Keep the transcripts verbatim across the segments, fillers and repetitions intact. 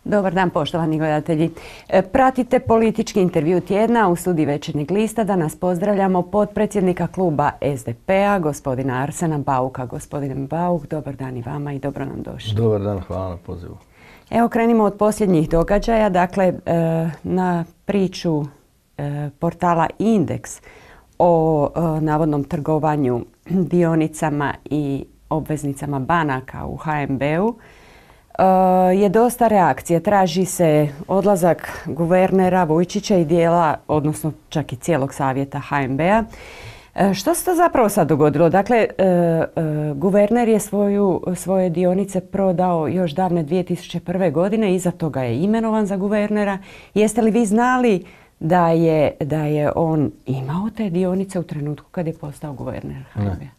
Dobar dan, poštovani gledatelji. Pratite politički intervju tjedna u studiju Večernjeg lista. Danas pozdravljamo potpredsjednika kluba S D P-a, gospodina Arsena Bauka. Gospodine Bauk, dobar dan i vama i dobro nam došli. Dobar dan, hvala na pozivu. Evo, krenimo od posljednjih događaja. Dakle, na priču portala Indeks o navodnom trgovanju dionicama i obveznicama banaka u H N B-u je dosta reakcija. Traži se odlazak guvernera Vujčića i dijela, odnosno čak i cijelog savjeta H N B-a. Što se to zapravo sad dogodilo? Dakle, guverner je svoju, svoje dionice prodao još davne dvije tisuće prve. godine, iza toga je imenovan za guvernera. Jeste li vi znali da je, da je on imao te dionice u trenutku kad je postao guverner H N B-a? Ne,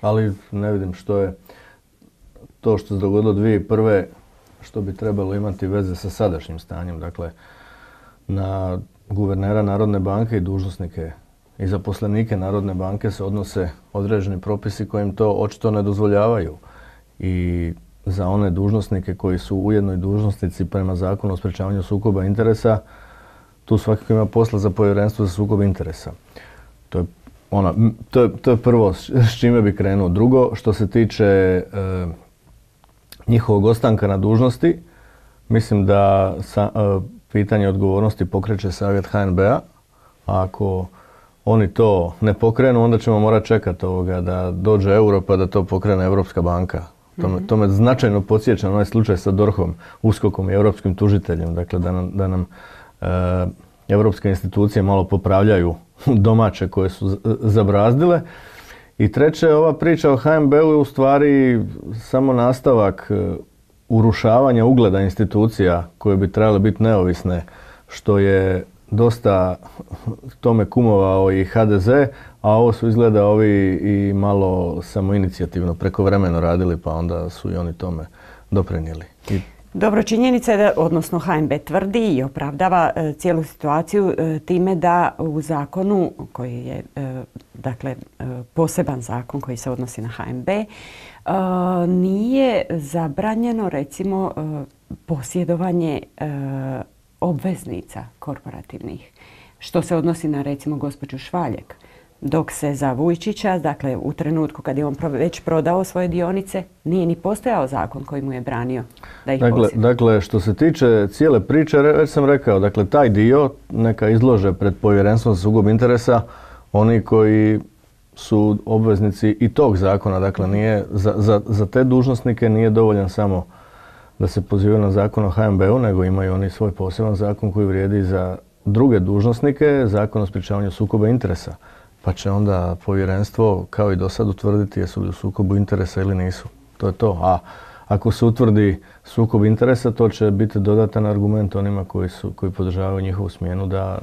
ali ne vidim što je to što se dogodilo dvije tisuće prve. što bi trebalo imati veze sa sadašnjim stanjem. Dakle, na guvernera Narodne banke i dužnosnike i zaposlenike Narodne banke se odnose određeni propisi koji im to očito ne dozvoljavaju. I za one dužnosnike koji su ujedno i dužnosnici prema Zakonu o sprečavanju sukoba interesa, tu svakako ima posla za Povjerenstvo za sukob interesa. To je, ona, to je, to je prvo s čime bi krenuo. Drugo, što se tiče e, njihovog ostanka na dužnosti, mislim da sa, e, pitanje odgovornosti pokreće savjet H N B-a. A ako oni to ne pokrenu, onda ćemo morati čekati ovoga da dođe euro pa da to pokrene Europska banka. To me, to me značajno podsjeća na onaj slučaj sa DORH-om, USKOK-om i europskim tužiteljem. Dakle, da nam, da nam e, europske institucije malo popravljaju domaće koje su zabrazdile. I treće, ova priča o H N B-u je u stvari samo nastavak urušavanja ugleda institucija koje bi trebale biti neovisne, što je dosta tome kumovao i H D Z, a ovo su izgleda ovi i malo samoinicijativno prekovremeno radili, pa onda su i oni tome doprinijeli. I Dobro, činjenica je da, odnosno H N B tvrdi i opravdava e, cijelu situaciju e, time da u zakonu koji je e, dakle e, poseban zakon koji se odnosi na H N B e, nije zabranjeno recimo e, posjedovanje e, obveznica korporativnih, što se odnosi na recimo gospođu Švaljek. Dok se za Vujčića, dakle u trenutku kad je on već prodao svoje dionice, nije ni postojao zakon koji mu je branio da ih dakle, posjeduje. dakle, što se tiče cijele priče, već sam rekao, dakle, taj dio neka izlože pred Povjerenstvom za sukob interesa oni koji su obveznici i tog zakona. Dakle, nije, za, za, za te dužnosnike nije dovoljan samo da se pozivaju na zakon o H N B-u, nego imaju oni svoj poseban zakon koji vrijedi za druge dužnosnike, zakon o sprječavanju sukoba interesa. Pa će onda povjerenstvo, kao i do sad, utvrditi jesu li u sukobu interesa ili nisu. To je to. A ako se utvrdi sukob interesa, to će biti dodatan argument onima koji, su, koji podržavaju njihovu smjenu da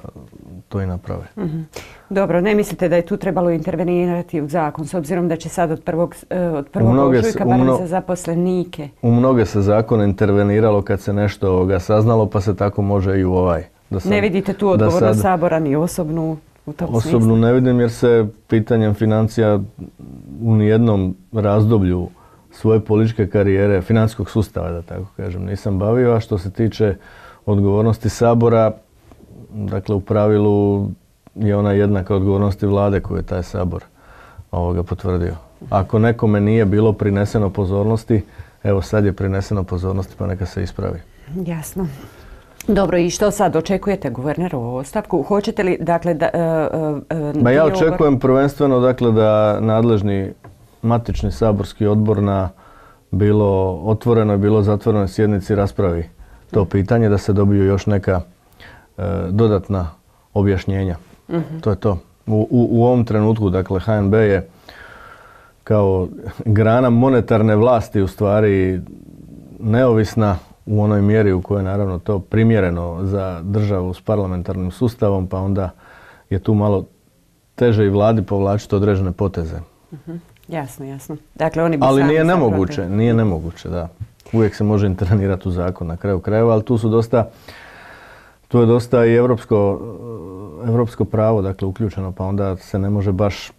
to i naprave. Mm-hmm. Dobro, ne mislite da je tu trebalo intervenirati u zakon, s obzirom da će sad od prvog, od prvog ožujka barem za zaposlenike? U mnoge se zakone interveniralo kad se nešto ovoga saznalo, pa se tako može i u ovaj. Da sad, ne vidite tu odgovornost sad Sabora ni osobnu? Osobno ne vidim jer se pitanjem financija u nijednom razdoblju svoje političke karijere, financijskog sustava, da tako kažem, nisam bavio. A što se tiče odgovornosti Sabora, dakle u pravilu je ona jednaka odgovornosti vlade koju je taj Sabor ovoga potvrdio. Ako nekome nije bilo prineseno pozornosti, evo sad je prineseno pozornosti pa neka se ispravi. Jasno. Dobro, i što sad očekujete guvernerovu ostavku? Hoćete li, dakle, da... Uh, uh, Ma ja očekujem prvenstveno, dakle, da nadležni matični saborski odbor na bilo otvorenoj, bilo zatvorenoj sjednici raspravi to pitanje, da se dobiju još neka uh, dodatna objašnjenja. Uh-huh. To je to. U, u, u ovom trenutku, dakle, H N B je kao grana monetarne vlasti u stvari neovisna u onoj mjeri u kojoj je naravno to primjereno za državu s parlamentarnim sustavom, pa onda je tu malo teže i vladi povlačiti određene poteze. Uh-huh. Jasno, jasno. Dakle, oni bi ali sami nije nemoguće, zapravo... nije nemoguće, da. Uvijek se može intervenirati u zakon na kraju krajeva, ali tu su dosta, tu je dosta i evropsko, evropsko pravo, dakle, uključeno, pa onda se ne može baš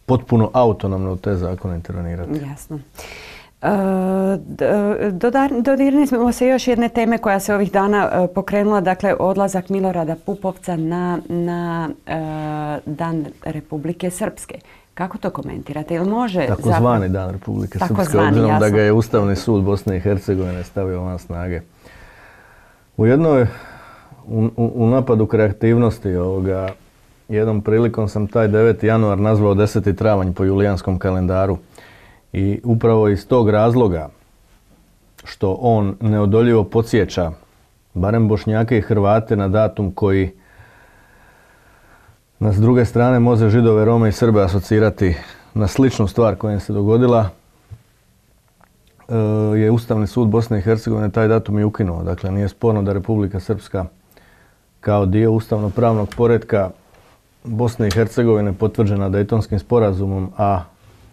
potpuno autonomno u te zakone intervenirati. Jasno. Dodirnuli smo se još jedne teme koja se ovih dana pokrenula, dakle odlazak Milorada Pupovca na, na Dan Republike Srpske. Kako to komentirate? Ili može takozvani Dan Republike Srpske, obzirom da ga je Ustavni sud Bosne i Hercegovine stavio van snage. U jednoj, u, u napadu kreativnosti ovoga, jednom prilikom sam taj deveti januar nazvao deseti travanj po julijanskom kalendaru. I upravo iz tog razloga što on neodoljivo podsjeća barem Bošnjake i Hrvate na datum koji nas s druge strane može Židove, Rome i Srbe asocirati na sličnu stvar koja im se dogodila, je Ustavni sud Bosne i Hercegovine taj datum i ukinuo. Dakle, nije sporno da Republika Srpska kao dio ustavno-pravnog poretka Bosne i Hercegovine potvrđena Dejtonskim sporazumom, a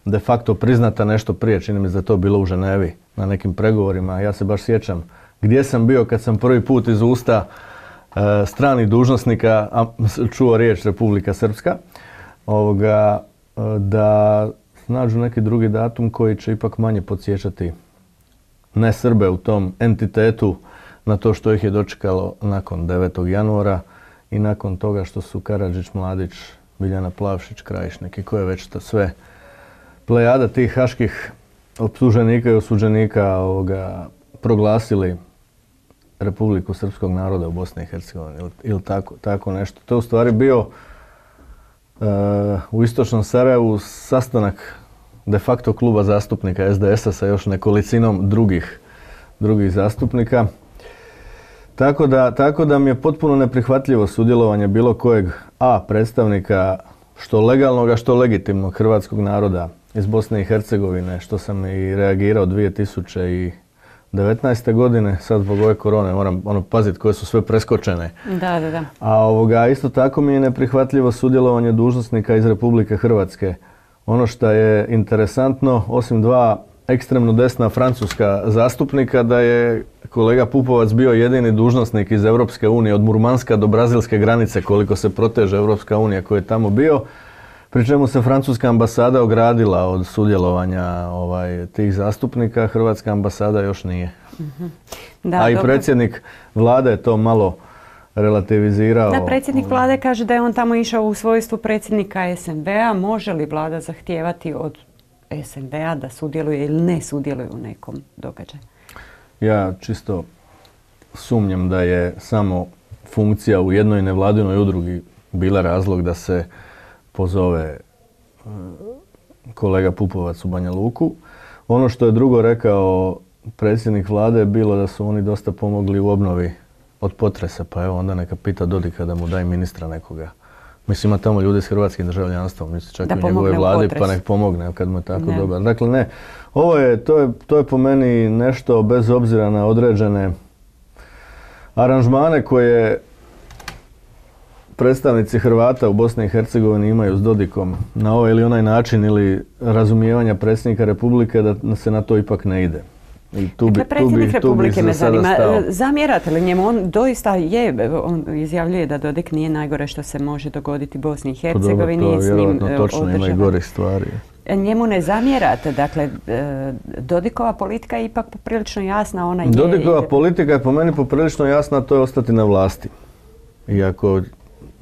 de facto priznata nešto prije, čini mi se da je to bilo u Ženevi na nekim pregovorima. Ja se baš sjećam gdje sam bio kad sam prvi put iz usta e, stranih dužnosnika a, čuo riječ Republika Srpska, ovoga, e, da nađu neki drugi datum koji će ipak manje podsjećati ne Srbe u tom entitetu na to što ih je dočekalo nakon devetog januara i nakon toga što su Karadžić, Mladić, Biljana Plavšić, Krajišnik i ko je već to sve plejada tih haških optuženika i osuđenika ovoga, proglasili Republiku Srpskog naroda u Bosni i Hercegovini ili, ili tako, tako nešto. To je u stvari bio uh, u istočnom Sarajevu sastanak de facto kluba zastupnika es de esa sa još nekolicinom drugih, drugih zastupnika. Tako da, tako da mi je potpuno neprihvatljivo sudjelovanje bilo kojeg a predstavnika što legalnog, što legitimnog hrvatskog naroda iz Bosne i Hercegovine, što sam i reagirao dvije tisuće devetnaeste. godine, sad zbog ove korone moram ono paziti koje su sve preskočene. Da, da, da. A ovoga, isto tako mi je neprihvatljivo sudjelovanje dužnosnika iz Republike Hrvatske. Ono što je interesantno, osim dva ekstremno desna francuska zastupnika, da je kolega Pupovac bio jedini dužnosnik iz Europske unije od Murmanska do brazilske granice, koliko se proteže Europska unija koji je tamo bio. Pri čemu se francuska ambasada ogradila od sudjelovanja ovaj, tih zastupnika, hrvatska ambasada još nije. Mm-hmm. Da, a i dobro. predsjednik vlade je to malo relativizirao. Da, predsjednik vlade kaže da je on tamo išao u svojstvu predsjednika es en be a. Može li vlada zahtijevati od es en be a da sudjeluje ili ne sudjeluje u nekom događaju? Ja čisto sumnjam da je samo funkcija u jednoj nevladinoj udrugi bila razlog da se pozove kolega Pupovac u Banja Luku. Ono što je drugo rekao predsjednik vlade je bilo da su oni dosta pomogli u obnovi od potresa, pa evo onda neka pita Dodika da mu daj ministra nekoga. Mislim, ima tamo ljudi s hrvatskim državljanstvom, mislim čak i u njegove vladi, pa nek pomogne kad mu je tako ne. dobar. Dakle, ne, ovo je, to je, to je po meni nešto bez obzira na određene aranžmane koje predstavnici Hrvata u Bosni i Hercegovini imaju s Dodikom na ovaj ili onaj način ili razumijevanja predsjednika Republike da se na to ipak ne ide. I tu bi, dakle, predsjednik tu bi, Republike tu me zanima, zamjerate li njemu? On doista je, on izjavljuje da Dodik nije najgore što se može dogoditi Bosni i Hercegovini. To je vjerojatno točno, ima i gorih stvari. Njemu ne zamjerate, dakle, Dodikova politika je ipak poprilično jasna. Ona je, Dodikova je... politika je po meni poprilično jasna, to je ostati na vlasti. Iako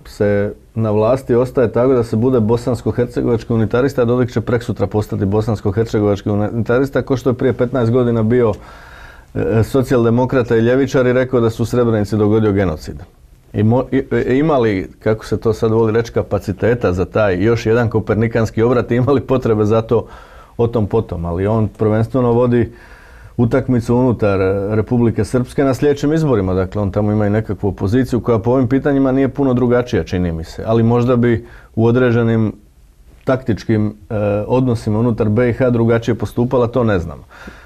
se na vlasti ostaje tako da se bude bosansko-hercegovački unitarista, a Dodik će preksutra postati bosansko-hercegovački unitarista, ko što je prije petnaest godina bio e, socijaldemokrata i ljevičar i rekao da su u Srebrenici dogodio genocid. I, mo, i, i imali, kako se to sad voli reći, kapaciteta za taj još jedan kopernikanski obrat i imali potrebe za to o tom potom, ali on prvenstveno vodi utakmicu unutar Republike Srpske na sljedećim izborima. Dakle, on tamo ima i nekakvu opoziciju koja po ovim pitanjima nije puno drugačija, čini mi se. Ali možda bi u određenim taktičkim eh, odnosima unutar be i ha drugačije postupala, to ne znam.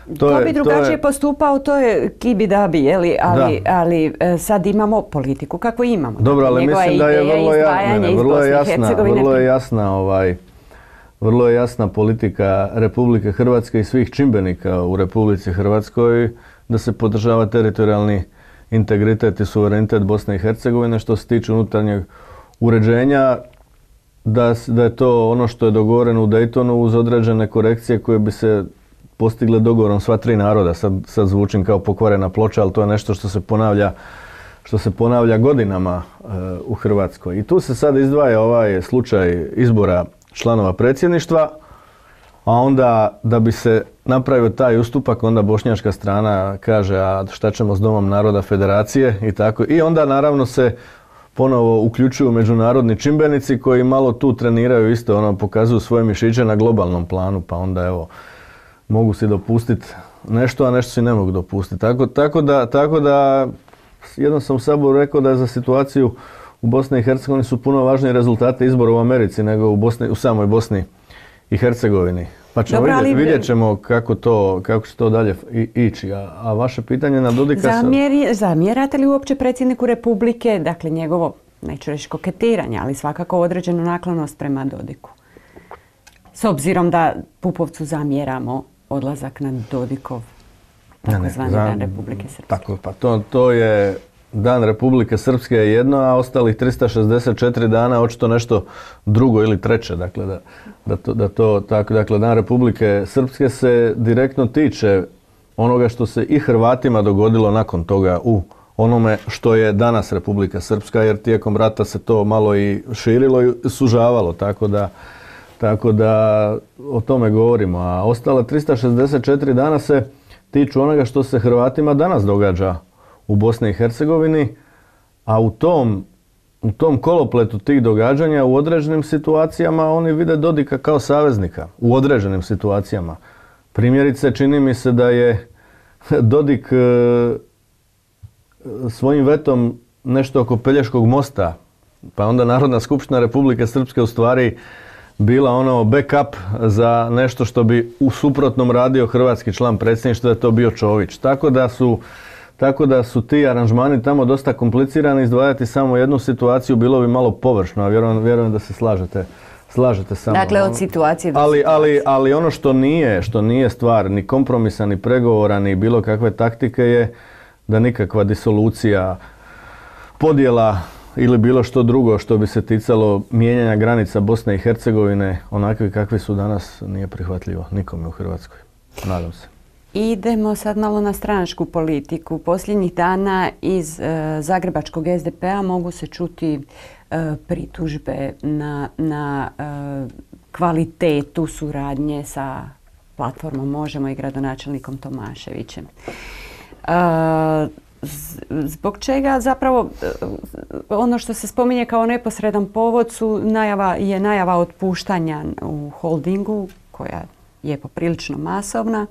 To, to je, bi drugačije to je... postupao, to je kibi-dabi, jeli? Ali, ali eh, sad imamo politiku kako imamo. Dobro, ali njegova mislim da je vrlo, ja, ne, ne, vrlo je jasna, vrlo je jasna ovaj, Vrlo je jasna politika Republike Hrvatske i svih čimbenika u Republici Hrvatskoj da se podržava teritorijalni integritet i suverenitet Bosne i Hercegovine. Što se tiče unutarnjeg uređenja, da, da je to ono što je dogovoreno u Daytonu uz određene korekcije koje bi se postigle dogovorom sva tri naroda. Sad, sad zvučim kao pokvarena ploča, ali to je nešto što se ponavlja, što se ponavlja godinama e, u Hrvatskoj. I tu se sad izdvaja ovaj slučaj izbora članova predsjedništva, a onda da bi se napravio taj ustupak, onda bošnjačka strana kaže a šta ćemo s Domom naroda federacije i tako. I onda naravno se ponovo uključuju međunarodni čimbenici koji malo tu treniraju isto, ono, pokazuju svoje mišiće na globalnom planu, pa onda evo, mogu si dopustiti nešto, a nešto si ne mogu dopustiti. Tako, tako, da, tako da, jednom sam u Saboru rekao da je za situaciju u Bosni i Hercegovini su puno važniji rezultati izbora u Americi nego u, Bosni, u samoj Bosni i Hercegovini. Pa ćemo Dobro, vidjet, ali... vidjet ćemo kako, to, kako će to dalje ići. A, a vaše pitanje na Dodika... Zamjeri, zamjerate li uopće predsjedniku Republike, dakle njegovo, neću reći koketiranje, ali svakako određenu naklonost prema Dodiku? S obzirom da Pupovcu zamjeramo odlazak na Dodikov, takozvani Dan Republike Srpske. Tako, pa to, to je... Dan Republike Srpske je jedno, a ostalih trista šezdeset četiri dana očito nešto drugo ili treće. Dakle, da, da to, da to tako, dakle, Dan Republike Srpske se direktno tiče onoga što se i Hrvatima dogodilo nakon toga u onome što je danas Republika Srpska, jer tijekom rata se to malo i širilo i sužavalo, tako da, tako da o tome govorimo. A ostale trista šezdeset četiri dana se tiču onoga što se Hrvatima danas događa u Bosni i Hercegovini, a u tom, u tom kolopletu tih događanja u određenim situacijama oni vide Dodika kao saveznika. U određenim situacijama. Primjerice, čini mi se da je Dodik e, svojim vetom nešto oko Pelješkog mosta, pa onda Narodna skupština Republike Srpske u stvari bila ono backup za nešto što bi u suprotnom radio hrvatski član predsjedništva, da je to bio Čović. Tako da su Tako da su ti aranžmani tamo dosta komplicirani, izdvajati samo jednu situaciju bilo bi malo površno, a vjerujem, vjerujem da se slažete, slažete sa mnom. Dakle, od situacije do ali, situacije. Ali, ali ono što nije, što nije stvar ni kompromisa, ni pregovora, ni bilo kakve taktike je da nikakva disolucija, podjela ili bilo što drugo što bi se ticalo mijenjanja granica Bosne i Hercegovine, onakvi kakvi su danas, nije prihvatljivo nikome u Hrvatskoj. Nadam se. Idemo sad malo na stranačku politiku. Posljednjih dana iz e, zagrebačkog es de pe a mogu se čuti e, pritužbe na, na e, kvalitetu suradnje sa platformom Možemo i gradonačelnikom Tomaševićem. E, zbog čega zapravo e, ono što se spominje kao neposredan povod su najava, je najava otpuštanja u holdingu koja je poprilično masovna.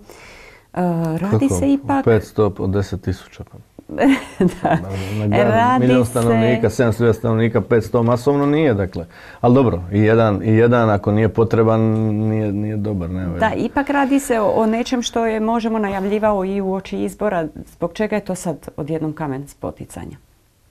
Uh, radi Kako? se ipak... petsto od deset tisuća. Da. Na, na radi milijun stanovnika, se... sedamsto hiljada stanovnika, petsto masovno nije, dakle. Ali dobro, i jedan, i jedan ako nije potreban, nije, nije dobar. Ne, da, ipak radi se o, o nečem što je Možemo najavljivao i uoči izbora. Zbog čega je to sad odjednom kamen spoticanja?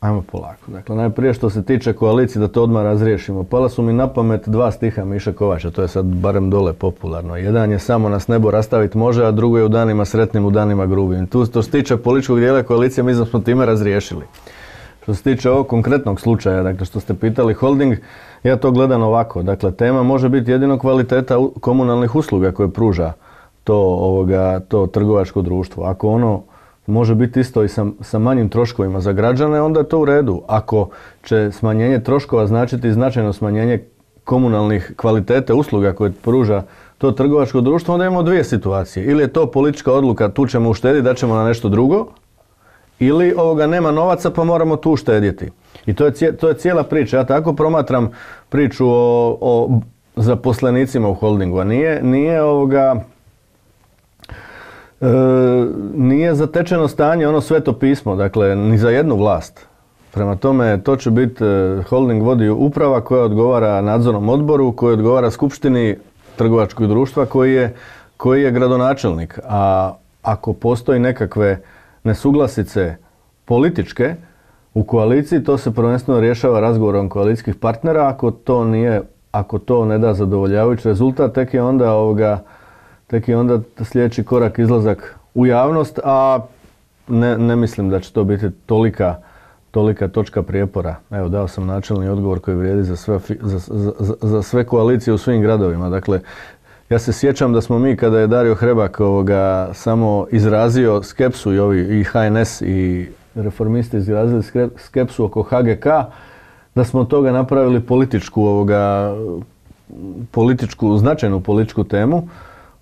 Ajmo polako. Dakle, najprije što se tiče koalicije, da to odmah razriješimo. Pala su mi na pamet dva stiha Miše Kovača, to je sad barem dole popularno. Jedan je samo nas nebo rastaviti može, a drugo je u danima sretnim, u danima grubim. Tu što se tiče političkog dijela koalicije, mi smo time razriješili. Što se tiče ovog konkretnog slučaja, dakle što ste pitali holding, ja to gledam ovako. Dakle, tema može biti jedino kvaliteta komunalnih usluga koje pruža to, ovoga, to trgovačko društvo. Ako ono može biti isto i sa, sa manjim troškovima za građane, onda je to u redu. Ako će smanjenje troškova značiti značajno smanjenje komunalnih kvalitete usluga koje pruža to trgovačko društvo, onda imamo dvije situacije. Ili je to politička odluka, tu ćemo uštediti, da ćemo na nešto drugo, ili ovoga nema novaca pa moramo tu uštedjeti. I to je, to je cijela priča. Ja tako promatram priču o, o zaposlenicima u holdingu, a nije, nije ovoga... E, nije zatečeno stanje ono sveto pismo, dakle, ni za jednu vlast. Prema tome, to će biti, holding vodi uprava koja odgovara nadzornom odboru, koja odgovara skupštini trgovačkog društva koji je, koji je gradonačelnik. A ako postoji nekakve nesuglasice političke u koaliciji, to se prvenstveno rješava razgovorom koalicijskih partnera. Ako to nije, ako to ne da zadovoljavajući rezultat, tek je onda ovoga tek je onda sljedeći korak izlazak u javnost, a ne, ne mislim da će to biti tolika, tolika točka prijepora. Evo, dao sam načelni odgovor koji vrijedi za sve, za, za, za sve koalicije u svim gradovima. Dakle, Ja se sjećam da smo mi, kada je Dario Hrebak ovoga, samo izrazio skepsu i ovi i H N S i reformisti izrazili skepsu oko H G K, da smo od toga napravili političku, ovoga, političku, značajnu političku temu.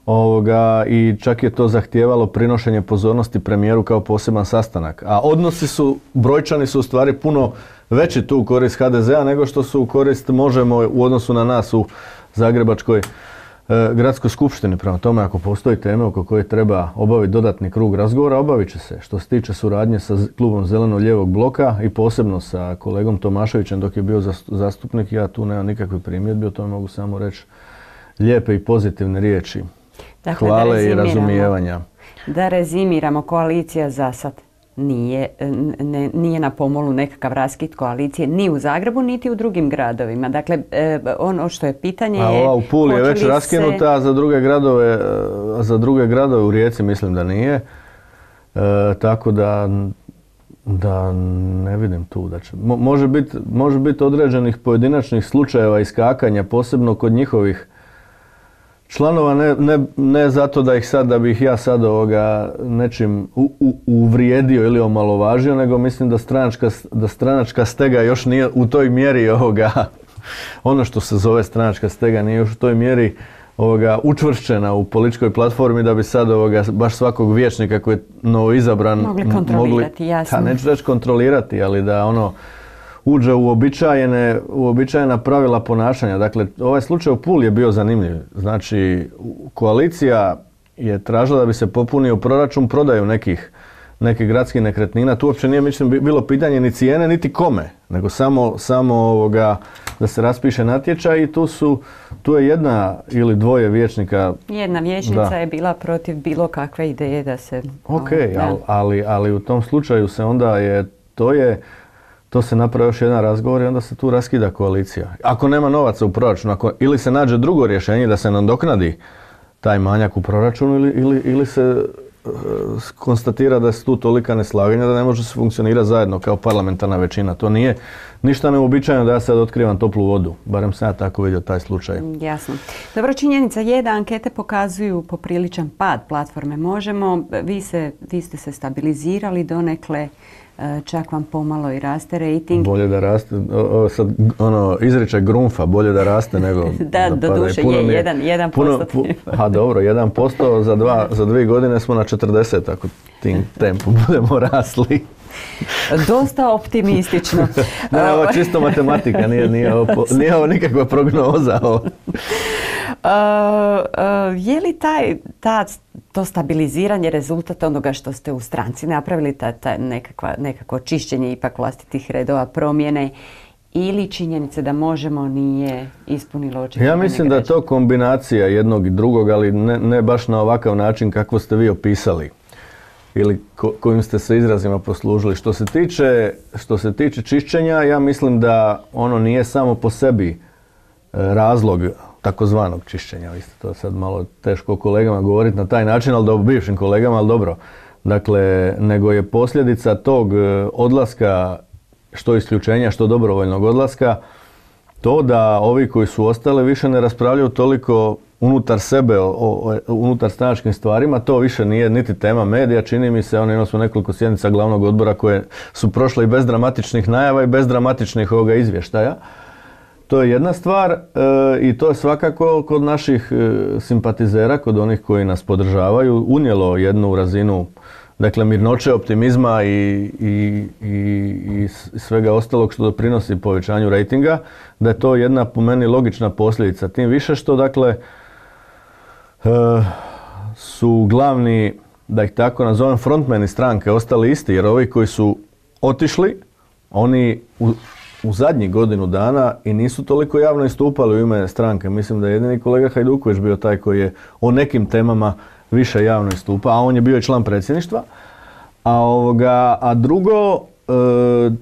Ovoga, i čak je to zahtijevalo prinošenje pozornosti premijeru kao poseban sastanak. A odnosi su, brojčani su u stvari puno veći tu u korist H D Z A nego što su u korist Možemo u odnosu na nas u Zagrebačkoj e, gradskoj skupštini. Prema tome, ako postoji teme oko koje treba obaviti dodatni krug razgovora, obavit će se. Što se tiče suradnje sa klubom Zeleno-lijevog bloka i posebno sa kolegom Tomaševićem dok je bio zastupnik, ja tu nemam nikakve primjedbe, o tome mogu samo reći lijepe i pozitivne riječi. Dakle, hvale i razumijevanja. Da rezimiramo, koalicija za sad nije, ne, nije na pomolu nekakav raskid koalicije ni u Zagrebu, niti u drugim gradovima. Dakle, ono što je pitanje a je... ova u Puli je već raskinuta, se... a za druge gradove, za druge gradove u Rijeci mislim da nije. E, tako da, da ne vidim tu da će... Mo, može biti može bit određenih pojedinačnih slučajeva iskakanja, posebno kod njihovih članova, ne, ne, ne zato da ih sad, da bih ja sad ovoga nečim u, u, uvrijedio ili omalovažio, nego mislim da stranačka, da stranačka stega još nije u toj mjeri ovoga, ono što se zove stranačka stega nije još u toj mjeri ovoga učvršćena u političkoj platformi da bi sad ovoga baš svakog vijećnika koji je novo izabran mogli kontrolirati, mogli, jasno. Ta, neću reći kontrolirati, ali da ono uđe u uobičajene, uobičajena pravila ponašanja. Dakle, ovaj slučaj u Puli je bio zanimljiv. Znači, koalicija je tražila da bi se popunio proračun prodaju nekih, nekih gradskih nekretnina. Tu uopće nije mislim, bilo pitanje ni cijene, niti kome, nego samo, samo ovoga, da se raspiše natječaj i tu, su, tu je jedna ili dvoje vijećnika. Jedna vijećnica da. je bila protiv bilo kakve ideje da se... Ok, ali, ali, ali u tom slučaju se onda je, to je... To se napravi još jedan razgovor i onda se tu raskida koalicija. Ako nema novaca u proračunu, ako, ili se nađe drugo rješenje da se nadoknadi taj manjak u proračunu ili, ili, ili se uh, konstatira da su tu tolika neslaganja da ne može se funkcionirati zajedno kao parlamentarna većina. To nije ništa neuobičajeno da ja sad otkrivam toplu vodu. Barem sam ja tako vidio taj slučaj. Jasno. Dobro, činjenica je da ankete pokazuju popriličan pad platforme Možemo. Vi, se, vi ste se stabilizirali donekle. Čak vam pomalo i raste rating. Bolje da raste, o, sad ono, izričaj Grunfa, bolje da raste nego da, da do duše je, je jedan, jedan puno, pu, a dobro, jedan posto za, dva, za dvije godine smo na četrdeset, ako tim tempu budemo rasli. Dosta optimistično. Ne, ovo je čisto matematika, nije, nije, ovo, nije ovo nikakva prognoza. Ovo. Uh, uh, je li taj, ta, to stabiliziranje rezultat onoga što ste u stranci napravili, ta, ta nekakva, nekako čišćenje ipak vlastitih redova, promjene ili činjenice da Možemo nije ispunilo očekivanje? Ja mislim da je to kombinacija jednog i drugog, ali ne, ne baš na ovakav način kako ste vi opisali ili ko, kojim ste se izrazima poslužili. Što se tiče, što se tiče čišćenja, ja mislim da ono nije samo po sebi razlog takozvanog čišćenja. Vi ste to sad malo teško kolegama govoriti na taj način, ali dobro, bivšim kolegama, ali dobro. Dakle, nego je posljedica tog odlaska, što isključenja, što dobrovoljnog odlaska, to da ovi koji su ostali više ne raspravljaju toliko unutar sebe, o, o, unutar stranačkim stvarima, to više nije niti tema medija, čini mi se, ono imali smo nekoliko sjednica glavnog odbora koje su prošle i bez dramatičnih najava i bez dramatičnih ovoga izvještaja. To je jedna stvar e, i to je svakako kod naših e, simpatizera, kod onih koji nas podržavaju, unijelo jednu razinu dakle, mirnoće, optimizma i, i, i, i svega ostalog što doprinosi povećanju rejtinga, da je to jedna po meni logična posljedica. Tim više što dakle e, su glavni, da ih tako nazovem, frontmeni stranke ostali isti, jer ovi koji su otišli, oni u, u zadnjih godinu dana i nisu toliko javno istupali u ime stranke. Mislim da je jedini kolega Hajduković bio taj koji je o nekim temama više javno istupa, a on je bio i član predsjedništva. A, ovoga, a drugo,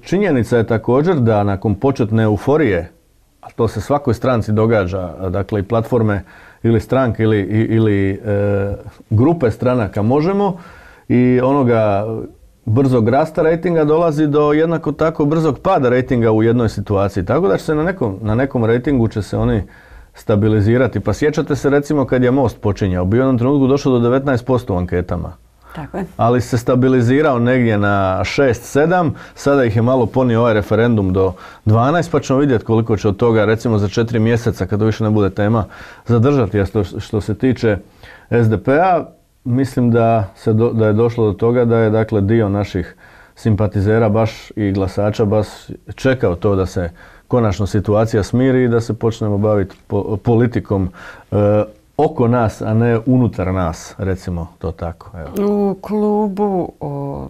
činjenica je također da nakon početne euforije, a to se svakoj stranci događa, dakle i platforme ili stranke ili, ili e, grupe stranaka Možemo i onoga brzog rasta rejtinga dolazi do jednako tako brzog pada rejtinga u jednoj situaciji. Tako da će se na nekom, na nekom rejtingu će se oni stabilizirati. Pa sjećate se recimo kad je Most počinjao, bio je u jednom trenutku došao do devetnaest posto u anketama. Tako je. Ali se stabilizirao negdje na šest sedam, sada ih je malo ponio ovaj referendum do dvanaest, pa ćemo vidjeti koliko će od toga recimo za četiri mjeseca, kada više ne bude tema, zadržati. A što, što se tiče S D P-a, mislim da, se do, da je došlo do toga da je dakle dio naših simpatizera baš i glasača baš čekao to da se konačno situacija smiri i da se počnemo baviti po, politikom e, oko nas, a ne unutar nas, recimo to tako. Evo. U klubu o,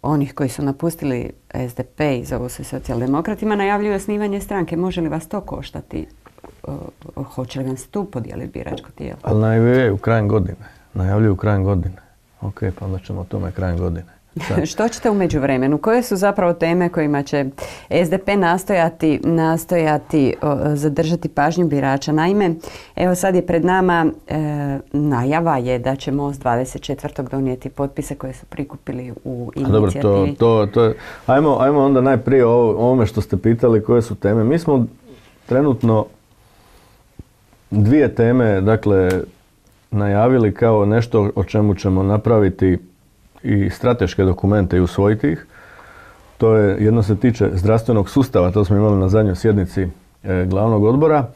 onih koji su napustili S D P i zovu se socijaldemokratima najavljuju osnivanje stranke. Može li vas to koštati? O, o, hoće li vam se tu podijeliti biračko tijelo? Ali najavljuju krajem godine. Najavljuju krajem godine. Ok, pa onda ćemo o tome krajem godine. Što ćete u međuvremenu? Koje su zapravo teme kojima će S D P nastojati, nastojati o, zadržati pažnju birača? Naime, evo sad je pred nama e, najava je da će Most dvadeset četvrtog donijeti potpise koje su prikupili u inicijativi. Dobro, to, to, to, ajmo, ajmo onda najprije o ovome što ste pitali koje su teme. Mi smo trenutno dvije teme, dakle, najavili kao nešto o čemu ćemo napraviti i strateške dokumente i usvojiti ih. To je, jedno se tiče zdravstvenog sustava, to smo imali na zadnjoj sjednici e, glavnog odbora,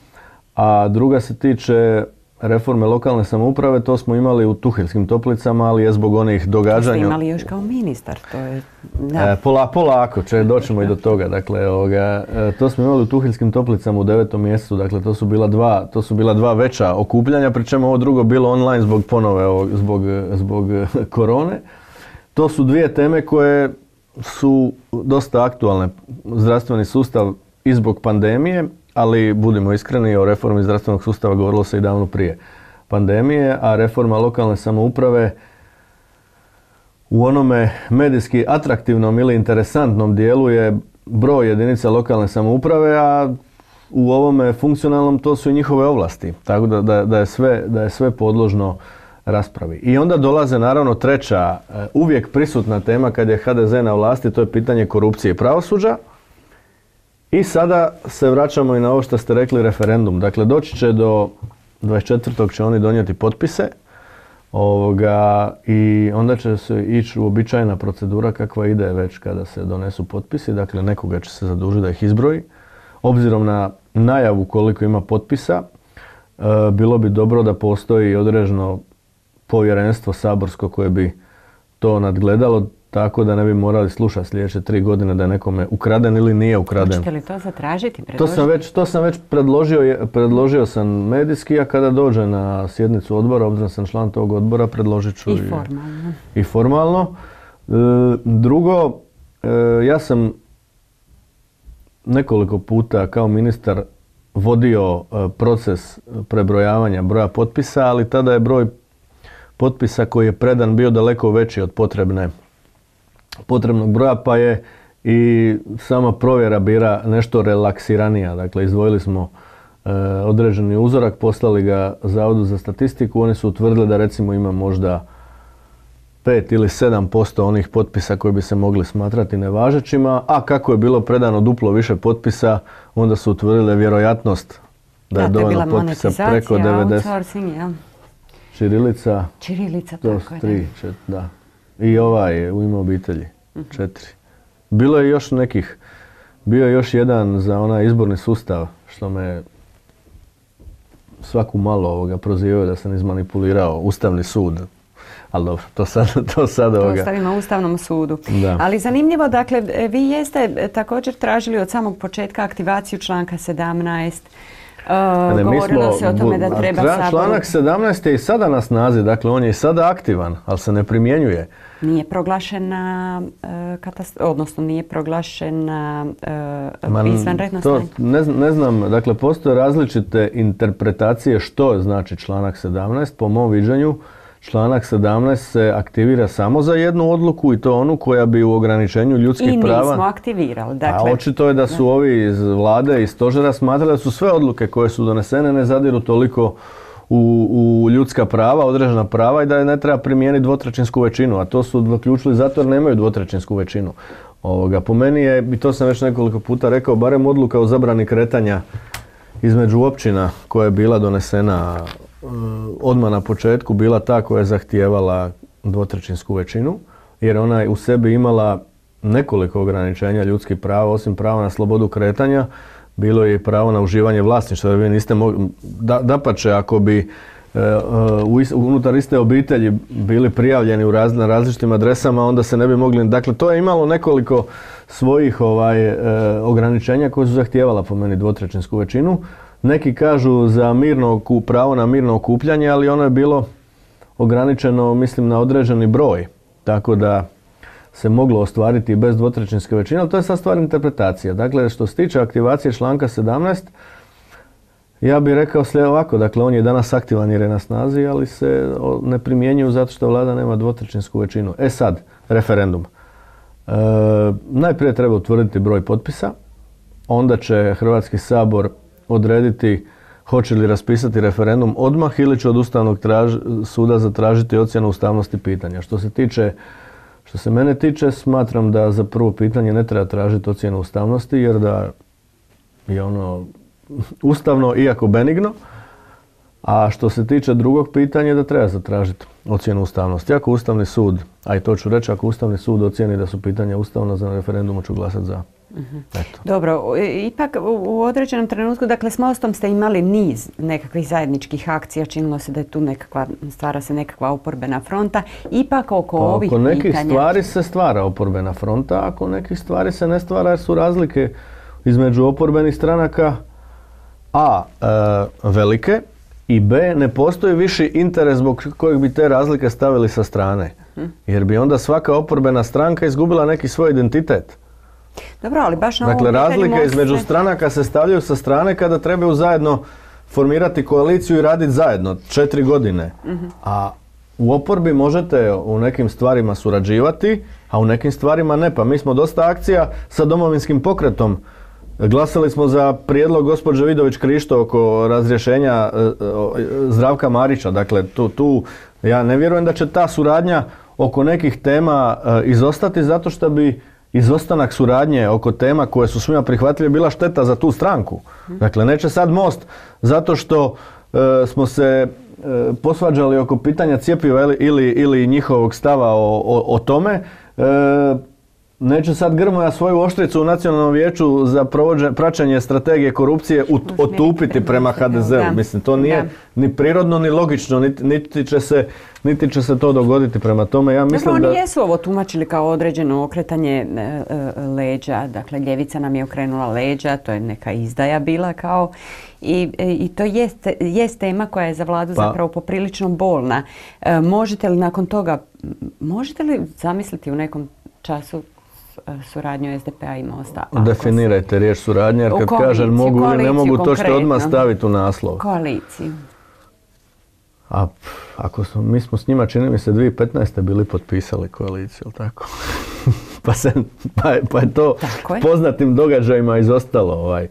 a druga se tiče reforme lokalne samouprave, to smo imali u Tuheljskim toplicama, ali je zbog onih događanja... To ste imali još kao ministar, to je... Da. E, pola, polako, če, doćemo i do toga. Dakle, ovoga, e, to smo imali u Tuheljskim toplicama u devetom mjesecu, dakle to su bila dva, to su bila dva veća okupljanja, pri čemu ovo drugo bilo online zbog ponove, ovog, zbog, zbog korone. To su dvije teme koje su dosta aktualne. Zdravstveni sustav i zbog pandemije, ali budimo iskreni, o reformi zdravstvenog sustava govorilo se i davno prije pandemije, a reforma lokalne samouprave u onome medijski atraktivnom ili interesantnom dijelu je broj jedinica lokalne samouprave, a u ovome funkcionalnom to su i njihove ovlasti. Tako da, da, da, je, sve, da je sve podložno raspravi. I onda dolaze naravno treća, uvijek prisutna tema kad je H D Z na vlasti, to je pitanje korupcije i pravosuđa. I sada se vraćamo i na ovo što ste rekli, referendum. Dakle, doći će do dvadeset četvrtog će oni donijeti potpise ovoga, i onda će se ići uobičajena procedura kakva ide već kada se donesu potpisi. Dakle, nekoga će se zadužiti da ih izbroji. Obzirom na najavu koliko ima potpisa, e, bilo bi dobro da postoji određeno povjerenstvo saborsko koje bi to nadgledalo, tako da ne bi morali slušati sljedeće tri godine da je nekome ukraden ili nije ukraden. Hoćete li to zatražiti? To sam već, to sam već predložio, predložio sam medijski, a kada dođe na sjednicu odbora, obzirom sam član tog odbora, predložit ću i formalno. I, i formalno. E, drugo, e, ja sam nekoliko puta kao ministar vodio e, proces prebrojavanja broja potpisa, ali tada je broj potpisa koji je predan bio daleko veći od potrebne, potrebnog broja, pa je i sama provjera bila nešto relaksiranija. Dakle, izdvojili smo e, određeni uzorak, poslali ga Zavodu za statistiku, oni su utvrdili da recimo ima možda pet ili sedam posto onih potpisa koji bi se mogli smatrati nevažećima, a kako je bilo predano duplo više potpisa, onda su utvrdili vjerojatnost da, da je dovoljno potpisa preko devedeset. Ja. Čirilica, Čirilica, to tako je. Tri, čet, da. I ovaj je u ime obitelji, uh-huh. četiri. Bilo je još nekih, bio je još jedan za onaj izborni sustav, što me svaku malo ovoga prozivaju da sam izmanipulirao Ustavni sud. Ali dobro, to sad, to sad ovoga... To ostavimo Ustavnom sudu. Da. Ali zanimljivo, dakle, vi jeste također tražili od samog početka aktivaciju članka sedamnaest. Uh, ne, govorilo smo, se o tome da treba tra, Sabor... Članak sedamnaest je i sada na snazi, dakle on je i sada aktivan, ali se ne primjenjuje. Nije proglašena, uh, katast... odnosno nije proglašena uh, izvanredno stanje. Ne, ne znam, dakle postoje različite interpretacije što znači članak sedamnaest. Po mom viđenju, članak sedamnaest se aktivira samo za jednu odluku i to onu koja bi u ograničenju ljudskih I prava... I nismo aktivirali. Dakle, a očito je da su ovi iz vlade i stožera smatrali da su sve odluke koje su donesene ne zadiru toliko u, u ljudska prava, određena prava i da je ne treba primijeniti dvotrećinsku većinu, a to su zaključili zato jer nemaju dvotrećinsku većinu. Ovoga, po meni je, i to sam već nekoliko puta rekao, barem odluka o zabrani kretanja između općina koja je bila donesena odmah na početku bila ta koja je zahtijevala dvotrećinsku većinu, jer ona je u sebi imala nekoliko ograničenja ljudskih prava, osim prava na slobodu kretanja, bilo je i pravo na uživanje vlasništva. Vi niste mogli, da, dapače, ako bi e, u, unutar iste obitelji bili prijavljeni u raz, na različitim adresama, onda se ne bi mogli. Dakle, to je imalo nekoliko svojih ovaj, e, ograničenja koje su zahtijevala po meni dvotrećinsku većinu. Neki kažu za mirno, pravo na mirno okupljanje, ali ono je bilo ograničeno, mislim, na određeni broj. Tako da se moglo ostvariti bez dvotrećinske većine, ali to je sad stvar interpretacija. Dakle, što se tiče aktivacije članka sedamnaest, ja bih rekao sve ovako, dakle, on je danas aktivan jer je na snazi, ali se ne primjenjuju zato što vlada nema dvotrećinsku većinu. E sad, referendum. E, najprije treba utvrditi broj potpisa, onda će Hrvatski sabor odrediti hoće li raspisati referendum odmah ili će od Ustavnog traž, suda zatražiti ocjenu ustavnosti pitanja. Što se tiče Što se mene tiče, smatram da za prvo pitanje ne treba tražiti ocjenu ustavnosti, jer da je ono ustavno, iako benigno. A što se tiče drugog pitanja, da treba zatražiti ocjenu ustavnosti. Ako Ustavni sud, a i to ću reći, ako Ustavni sud ocijeni da su pitanja ustavna, za referendumu ću glasati za. Mm-hmm. Dobro, ipak u određenom trenutku, dakle s Mostom ste imali niz nekakvih zajedničkih akcija, činilo se da je tu nekakva, stvara se nekakva oporbena fronta, ipak oko pa, ovih pitanja... Oko nekih pitanja... stvari se stvara oporbena fronta, a oko nekih stvari se ne stvara jer su razlike između oporbenih stranaka a e, velike i b ne postoji viši interes zbog kojeg bi te razlike stavili sa strane, jer bi onda svaka oporbena stranka izgubila neki svoj identitet. Dobro, ali baš na dakle, razlike između stranaka se stavljaju sa strane kada trebaju zajedno formirati koaliciju i raditi zajedno četiri godine. Uh-huh. A u oporbi možete u nekim stvarima surađivati, a u nekim stvarima ne. Pa mi smo dosta akcija sa Domovinskim pokretom. Glasali smo za prijedlog gospođe Vidović Krišto oko razrješenja Zdravka Marića. Dakle, tu, tu ja ne vjerujem da će ta suradnja oko nekih tema izostati zato što bi izostanak suradnje oko tema koje su svima prihvatljive bila šteta za tu stranku. Dakle, neće sad Most zato što e, smo se e, posvađali oko pitanja cjepiva ili, ili, ili njihovog stava o, o, o tome. E, neće sad Grmoja svoju oštricu u Nacionalnom vijeću za provođe, praćenje strategije korupcije ut, otupiti prema ha de zeu. Mislim, to nije da. Ni prirodno, ni logično, niti, niti, će se, niti će se to dogoditi prema tome. Ja mislim dakle, oni da... jesu ovo tumačili kao određeno okretanje e, e, leđa. Dakle, ljevica nam je okrenula leđa, to je neka izdaja bila kao... I, i to jest, jest tema koja je za vladu pa. zapravo poprilično bolna. E, možete li nakon toga, možete li zamisliti u nekom času suradnju es de pe a i Mosta? Definirajte se... riječ suradnja, jer kad kažem mogu ili ne mogu, to što odmah staviti u naslov. Koaliciju. A ako smo, mi smo s njima, čini mi se, dvije tisuće petnaeste bili potpisali koaliciju, tako? pa, se, pa, pa je to je. poznatim događajima izostalo. Ovaj. E...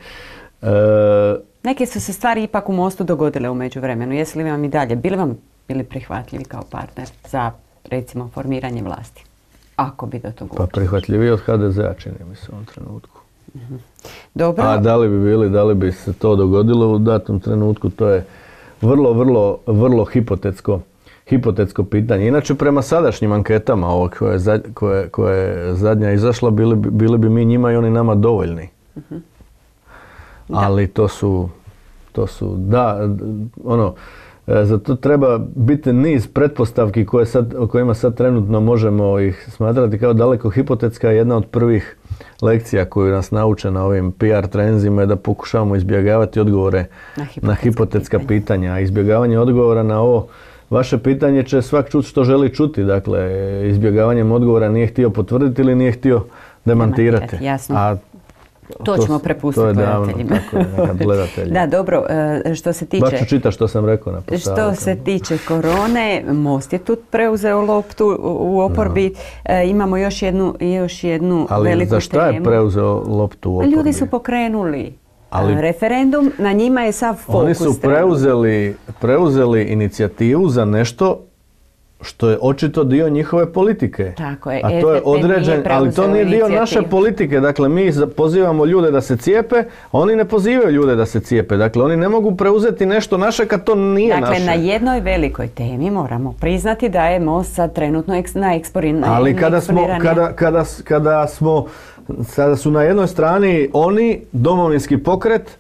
Neke su se stvari ipak u Mostu dogodile u međuvremenu. Jesu li vam i dalje bili vam bili prihvatljivi kao partner za, recimo, formiranje vlasti? Ako bi do toga Pa prihvatljiviji od ha de zea, čini mi se u ovom trenutku. Mm-hmm. Dobro. A da li bi bili, da li bi se to dogodilo u datom trenutku, to je vrlo, vrlo, vrlo hipotetsko, hipotetsko pitanje. Inače, prema sadašnjim anketama, ovo koje, koje, koje je zadnja izašla, bili, bili bi mi njima i oni nama dovoljni. Mm-hmm. Ali to su, to su, da, ono, za to treba biti niz pretpostavki koje sad, o kojima sad trenutno možemo ih smatrati kao daleko hipotetska. Jedna od prvih lekcija koju nas nauče na ovim pe er trenzima je da pokušavamo izbjegavati odgovore na hipotetska, na hipotetska pitanja. pitanja. A izbjegavanje odgovora na ovo vaše pitanje će svak čuti što želi čuti. Dakle, izbjegavanjem odgovora nije htio potvrditi ili nije htio demantirati. Jasno. A To ćemo prepustiti gledateljima. Da, dobro, što se tiče... Baš ću čitati što sam rekao na postavu. Što se tiče korone, Most je tu preuzeo loptu u oporbi. No. E, imamo još jednu, još jednu Ali veliku temu. Ali za šta je preuzeo loptu u oporbi? Ljudi su pokrenuli Ali referendum, na njima je sav fokus. Oni su preuzeli, preuzeli inicijativu za nešto što je očito dio njihove politike. Tako je, a to je određen, ali to nije dio naše politike. Dakle, mi pozivamo ljude da se cijepe, a oni ne pozivaju ljude da se cijepe. Dakle, oni ne mogu preuzeti nešto naše kad to nije dakle, naše. Dakle, na jednoj velikoj temi moramo priznati da je Most sad trenutno eks, na eksponiranju. Ali kada smo, kada, kada, kada smo, sada su na jednoj strani oni, Domovinski pokret,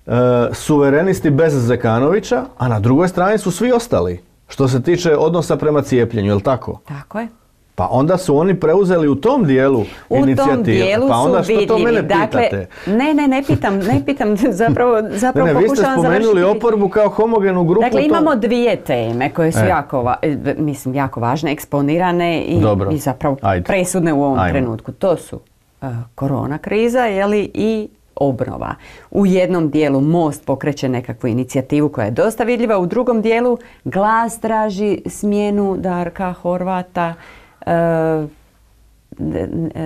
e, suverenisti bez Zekanovića, a na drugoj strani su svi ostali. Što se tiče odnosa prema cijepljenju, je li tako? Tako je. Pa onda su oni preuzeli u tom dijelu inicijativu. U tom dijelu pa onda su što to mene dakle, pitate? Ne, ne, ne pitam, ne pitam, zapravo, zapravo ne, ne, pokušavam završiti. Vi ste spomenuli oporbu kao homogenu grupu. Dakle, tom... imamo dvije teme koje su e. jako, mislim, jako važne, eksponirane i, i zapravo Ajde. presudne u ovom Ajmo. trenutku. To su uh, korona kriza, jeli, i obnova. U jednom dijelu Most pokreće nekakvu inicijativu koja je dosta vidljiva, u drugom dijelu Glas traži smjenu Darka Horvata. E,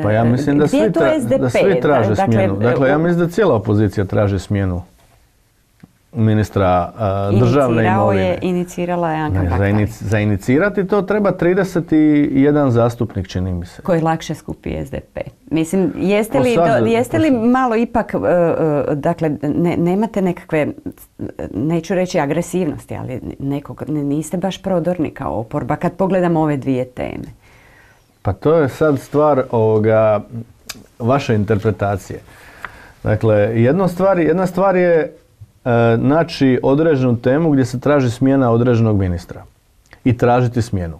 pa ja mislim da svi, tra, da svi traže dakle, smjenu. Dakle, ja mislim da cijela opozicija traži smjenu ministra uh, državne imovine. Je, inicirala je Anka ne, za, inici, za inicirati to treba trideset jedan zastupnik, čini mi se. Koji lakše skupi S D P. Mislim, jeste li, sad, do, jeste li malo ipak, uh, uh, dakle, ne, nemate nekakve, neću reći agresivnosti, ali nekog, niste baš prodorni kao oporba kad pogledamo ove dvije teme. Pa to je sad stvar ovoga, vaše interpretacije. Dakle, jedna stvar, jedna stvar je naći određenu temu gdje se traži smjena određenog ministra i tražiti smjenu.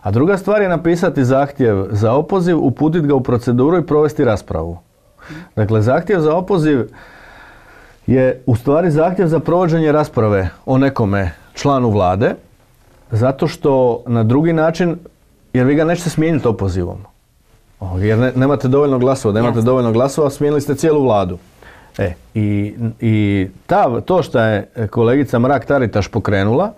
A druga stvar je napisati zahtjev za opoziv, uputiti ga u proceduru i provesti raspravu. Dakle, zahtjev za opoziv je u stvari zahtjev za provođenje rasprave o nekome članu vlade, zato što na drugi način, jer vi ga nećete smijeniti opozivom. Jer ne, nemate dovoljno glasova, nemate Jasne. dovoljno glasova, smijenili ste cijelu vladu. E, i, i ta, to što je kolegica Mrak-Taritaš pokrenula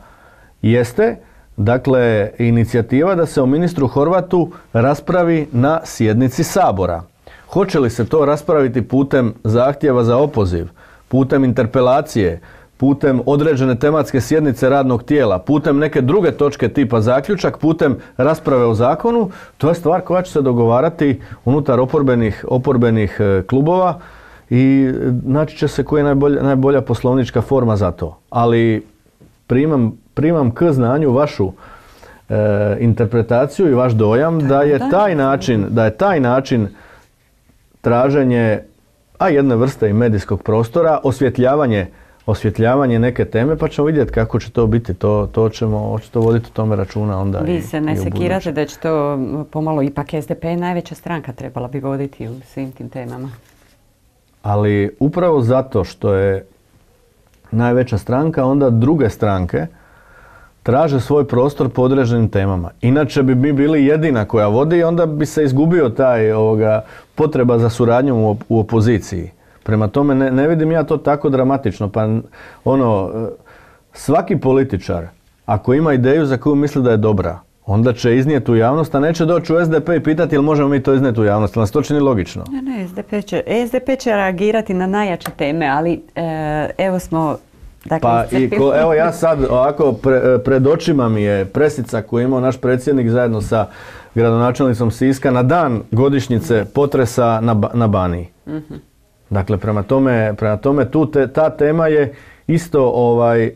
jeste, dakle, inicijativa da se o ministru Horvatu raspravi na sjednici Sabora. Hoće li se to raspraviti putem zahtjeva za opoziv, putem interpelacije, putem određene tematske sjednice radnog tijela, putem neke druge točke tipa zaključak, putem rasprave o zakonu, to je stvar koja će se dogovarati unutar oporbenih, oporbenih klubova i naći će se koja je najbolja, najbolja poslovnička forma za to. Ali primam, primam k znanju vašu e, interpretaciju i vaš dojam da je taj način, da je taj način traženje, a jedne vrste i medijskog prostora, osvjetljavanje osvjetljavanje neke teme, pa ćemo vidjeti kako će to biti. To, to ćemo očito voditi o tome računa onda. Vi i, se ne sekirate da će to pomalo ipak S D P najveća stranka trebala bi voditi u svim tim temama. Ali upravo zato što je najveća stranka, onda druge stranke traže svoj prostor po određenim temama. Inače bi mi bili jedina koja vodi i onda bi se izgubio taj ovoga, potreba za suradnjom u, u opoziciji. Prema tome ne, ne vidim ja to tako dramatično. Pa ono, svaki političar, ako ima ideju za koju misli da je dobra, onda će iznijeti u javnost, a neće doći u S D P i pitati jel možemo mi to iznijeti u javnost. Nas to čini logično. Ne, ne, S D P će, S D P će reagirati na najjače teme, ali e, evo smo... Dakle, pa i ko, evo ja sad ovako pre, pred očima mi je presica koju je imao naš predsjednik zajedno sa gradonačelnicom Siska na dan godišnjice potresa na, na Baniji. Mm-hmm. Dakle, prema tome, prema tome tu te, ta tema je isto ovaj, e,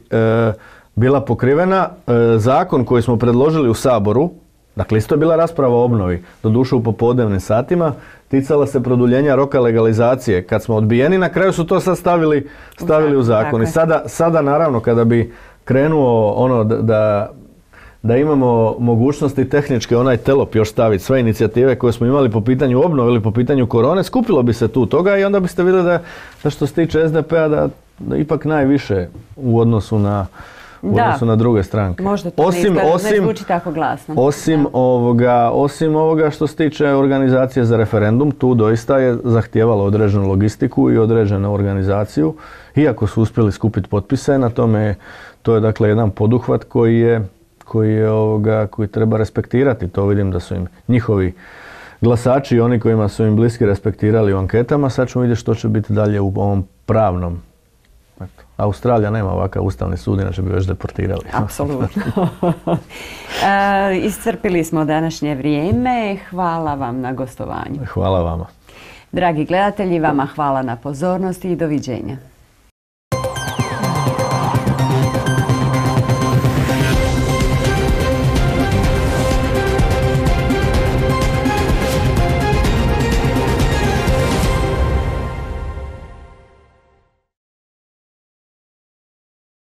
bila pokrivena. E, zakon koji smo predložili u Saboru, dakle isto je bila rasprava o obnovi, doduše u popodnevnim satima, ticala se produljenja roka legalizacije. Kad smo odbijeni, na kraju su to sad stavili, stavili u zakon. I sada, sada naravno kada bi krenuo ono da, da, da imamo mogućnosti tehničke onaj telop još staviti sve inicijative koje smo imali po pitanju obnove ili po pitanju korone, skupilo bi se tu toga i onda biste vidjeli da, da što se tiče S D P-a da, da ipak najviše u odnosu na u da, odnosu na druge stranke. Možda to osim, ne, osim, ne zvuči tako glasno. Osim ovoga, osim ovoga što se tiče organizacije za referendum, tu doista je zahtijevalo određenu logistiku i određenu organizaciju. Iako su uspjeli skupiti potpise, na tome to je dakle jedan poduhvat koji je, koji je ovoga, koji treba respektirati. To vidim da su im njihovi glasači i oni kojima su im bliski respektirali u anketama. Sad ćemo vidjeti što će biti dalje u ovom pravnom Eto. Australija nema ovakav ustavni sud, inače bi već deportirali. Apsolutno. e, iscrpili smo današnje vrijeme. Hvala vam na gostovanju. Hvala vama. Dragi gledatelji, vama hvala na pozornosti i doviđenja.